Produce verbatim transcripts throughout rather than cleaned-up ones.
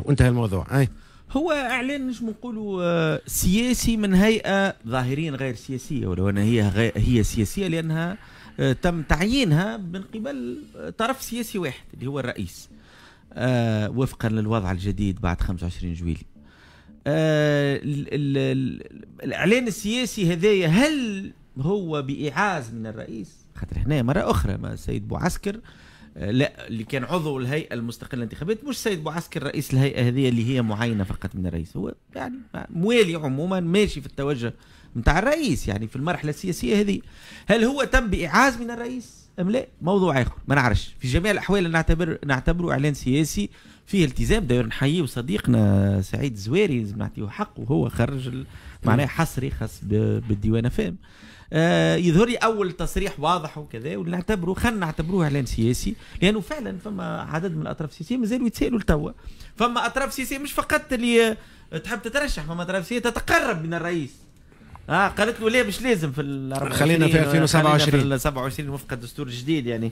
وانتهى الموضوع. اي هو اعلان نجم نقولوا سياسي من هيئة ظاهريا غير سياسية، ولو ان هي غير هي سياسية لانها تم تعيينها من قبل طرف سياسي واحد اللي هو الرئيس، آه وفقا للوضع الجديد بعد خمسة وعشرين جويلية. آه الاعلان السياسي هذايا هل هو بإيعاز من الرئيس؟ خاطر هنا مرة أخرى ما السيد بوعسكر، لا اللي كان عضو الهيئة المستقلة للانتخابات مش السيد بوعسكر رئيس الهيئة هذه اللي هي معينة فقط من الرئيس، هو يعني موالي عموما ماشي في التوجه نتاع الرئيس يعني في المرحلة السياسية هذه. هل هو تم بإيعاز من الرئيس أم لا؟ موضوع آخر ما نعرفش. في جميع الأحوال نعتبر نعتبره إعلان سياسي فيه التزام. داير نحييه صديقنا سعيد الزواري لازم نعطيه حقه، وهو خرج معناه حصري خاص بالديوان فام. آه يظهر لي اول تصريح واضح وكذا، ونعتبره خلينا نعتبروه اعلان سياسي، لانه فعلا فما عدد من الاطراف السياسية مازالوا يتسالوا لتوا. فما اطراف سياسية مش فقط اللي تحب تترشح، فما اطراف سياسية تتقرب من الرئيس. اه قالت له ليه مش لازم في ال خلينا في ألفين وسبعة وعشرين في سبعة وعشرين وفق الدستور الجديد يعني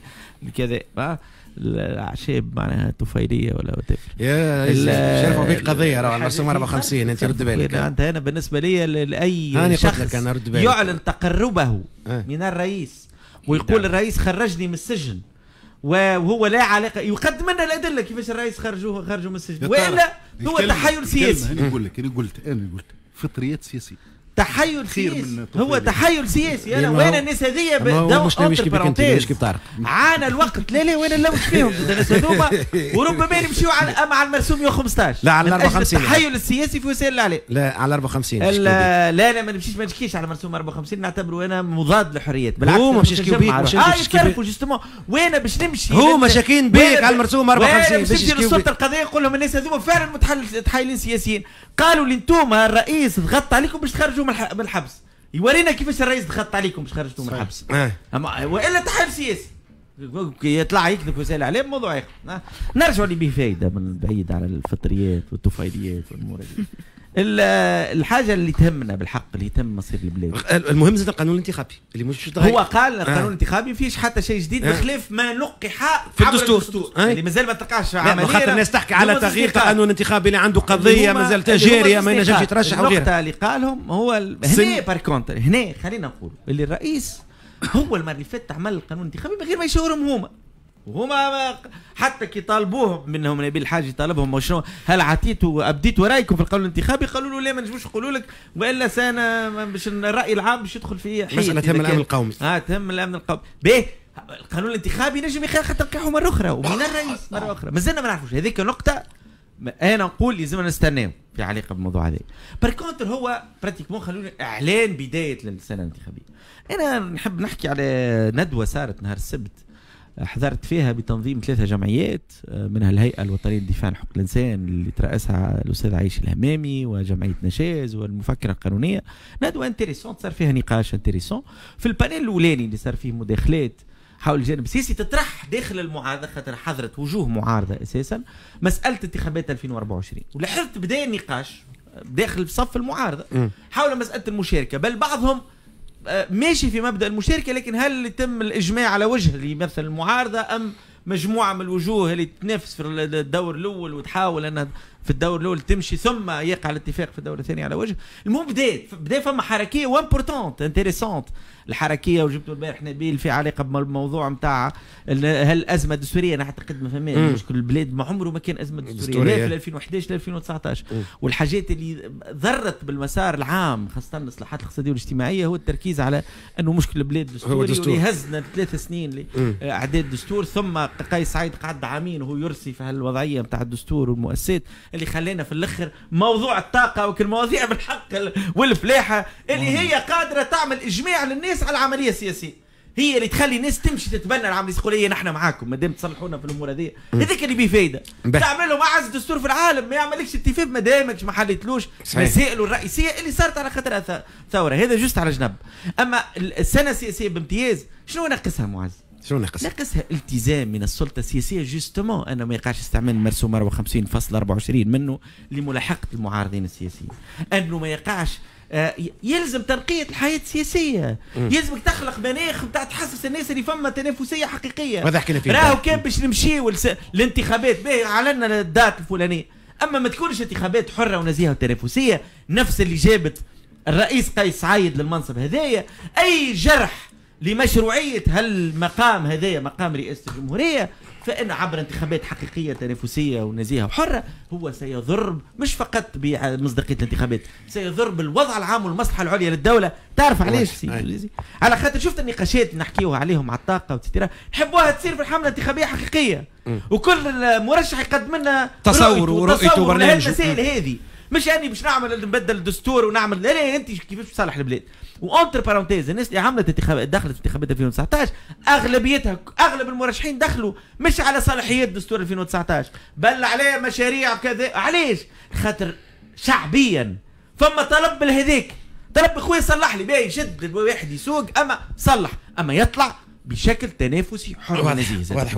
كذا. آه الاعشاب معناها طفيليه ولا وتفر يا شرفوا فيك قضية راه المرسوم أربعة وخمسين، انت رد بالك. انت انا بالنسبة لي لاي شخص يعلن تقربه أه. من الرئيس ويقول الرئيس خرجني من السجن وهو لا علاقة، يقدم لنا الادلة كيفاش الرئيس خرجوه خرجوا من السجن، والا هو تحايل سياسي. انا نقول لك انا قلت انا قلت فطريات سياسية، تحيل سياسي، هو تحيل سياسي. انا وين الناس هذيا مش مش كيف طارق عانى الوقت. لا لا وين نلوج فيهم الناس هذوما، وربما يمشيو على مع المرسوم مية وخمسطاش لا على أربعة وخمسين التحيل السياسي في وسائل الاعلام. لا على أربعة وخمسين لا لا ما نمشيش ما نشكيش على مرسوم أربعة وخمسين، نعتبره انا مضاد للحريات. بالعكس هو مش يشكيو بيك، مش اه يتصرفوا justement. وين باش نمشي هو مشاكين بيك على المرسوم أربعة وخمسين باش نمشي للسلطة القضائية نقول لهم الناس هذوما فعلا متحايلين سياسيين، قالوا لي انتم الرئيس ضغط عليكم باش تخرجوا من الحبس. يورينا كيفاش الرئيس ضغط عليكم باش خرجتوا من الحبس. أه. والا تحايل سياسي يطلع يكذب وسائل الاعلام موضوع اخر. نرجعوا اللي به فايده من بعيد على الفطريات والطفيليات والامور هذه. الحاجة اللي تهمنا بالحق اللي تهم مصير البلاد، المهم زاد القانون الانتخابي اللي مش تغير. هو قال القانون آه. الانتخابي فيش حتى شيء جديد آه. بخلاف ما لقح في الدستور, الدستور. آه. اللي مازال ما تلقاش عملية. خاطر الناس تحكي على تغيير قانون انتخابي اللي عنده قضية مازال جارية ما ينجمش يترشح وغيرها. النقطة اللي قالهم هو ال... هنا par contre هنا خلينا نقول اللي الرئيس هو المرة اللي فاتت عمل القانون الانتخابي من غير ما يشاورهم هما، وهما حتى كي طالبوهم منهم نبيل الحاج طالبهم وشنو هل عطيتوا ابديتوا رايكم في القانون الانتخابي؟ قالوا له لا ما نجموش نقولوا لك، والا سنة باش الراي العام باش يدخل في حيط. مسالة تهم الامن القومي. اه تهم الامن القومي. باهي القانون الانتخابي نجم يخلق تلقيحه مرة اخرى ومن الرئيس مرة اخرى، مازلنا ما نعرفوش. هذيك نقطة انا نقول لازم نستناو في علاقة بالموضوع هذا. par contre هو pratiquement خلونا اعلان بداية للسنة الانتخابية. انا نحب نحكي على ندوه صارت نهار السبت حضرت فيها بتنظيم ثلاثة جمعيات، منها الهيئة الوطنية للدفاع عن حقوق الإنسان اللي ترأسها الأستاذ عايش الهمامي وجمعية نشاز والمفكرة القانونية. ندوة intéressante صار فيها نقاش intéressant. في ال panel الأولاني اللي صار فيه مداخلات حول الجانب السياسي تطرح داخل المعارضة، خاطر حضرت وجوه معارضة أساسا مسألة انتخابات ألفين وأربعة وعشرين، ولاحظت بداية النقاش داخل صف المعارضة حول مسألة المشاركة، بل بعضهم ماشي في مبدأ المشاركة، لكن هل يتم الإجماع على وجه اللي يمثل المعارضة أم مجموعة من الوجوه اللي تنافس في الدور الأول وتحاول أنها في الدور الأول تمشي ثم يقع الاتفاق في الدور الثاني على وجه؟ المهم بدات بدا فما حركية و importante intéressante الحركية، وجبتوا البارح نبيل في علاقة بالموضوع نتاع هل الأزمة الدستورية. أنا أعتقد ما فهمش مشكل البلاد ما عمره ما كان أزمة دستورية لا في ألفين وأحد عشر لا ألفين وتسعطاش، والحاجات اللي ضرت بالمسار العام خاصة الإصلاحات الاقتصادية والاجتماعية هو التركيز على أنه مشكل البلاد دستوري واللي هزنا ثلاث سنين لإعداد دستور، ثم قيس سعيد قعد عامين وهو يرسي في هالوضعية نتاع الدستور والمؤسسات اللي خلينا في الاخر موضوع الطاقة وكل المواضيع بالحق والفلاحه اللي هي قادرة تعمل اجماع للناس على العملية السياسية، هي اللي تخلي الناس تمشي تتبنى العملية السياسية. نحن معاكم ما دام تصلحونا في الامور هذه، هذاك اللي بيه فايده. تعمل لهم اعز دستور في العالم ما يعملكش اتفاق ما دامكش ما حليتلوش مسائله الرئيسية اللي صارت على خاطرها ثورة. هذا juste على جنب. اما السنة السياسية بامتياز شنو ناقصها معز؟ شنو ناقصها؟ ناقصها التزام من السلطة السياسية justement انه ما يقعش استعمال المرسوم أربعة وخمسين فاصل أربعة وعشرين منه لملاحقه المعارضين السياسيين، انه ما يقعش يلزم تنقية الحياة السياسية، يلزمك تخلق مناخ نتاع تحسس الناس اللي فما تنافسية حقيقية. هذا حكينا فيه. راهو كان باش نمشيو الانتخابات باهي علنا ال date الفلانية، اما ما تكونش انتخابات حره ونزيهه وتنافسيه، نفس اللي جابت الرئيس قيس سعيد للمنصب هذايا، اي جرح لمشروعيه هالمقام هذايا، مقام رئاسة الجمهوريه، فان عبر انتخابات حقيقية تنافسية ونزيهه وحره هو سيضر مش فقط بمصداقيه الانتخابات، سيضر بالوضع العام والمصلحة العليا للدوله. تعرف علاش سيدي؟ على خاطر شفت النقاشات اللي نحكيوها عليهم على الطاقة و et cetera، نحبوها تصير في الحملة الانتخابية حقيقيه، وكل مرشح يقدم لنا تصور ورؤيته وبرنامجه. المسائل هذه مش يعني باش نعمل نبدل الدستور ونعمل، لا لا، انت كيفاش تصلح البلاد. و entre parenthèses، الناس اللي عملت انتخابات، دخلت انتخابات ألفين وتسعطاش، اغلبيتها، اغلب المرشحين دخلوا مش على صلاحيات دستور ألفين وتسعطاش، بل على مشاريع كذا. علاش؟ خاطر شعبيا فما طلب بالهذيك، طلب خويا صلح لي، باهي شد واحد يسوق، اما صلح، اما يطلع بشكل تنافسي حر ونزيه. واضح.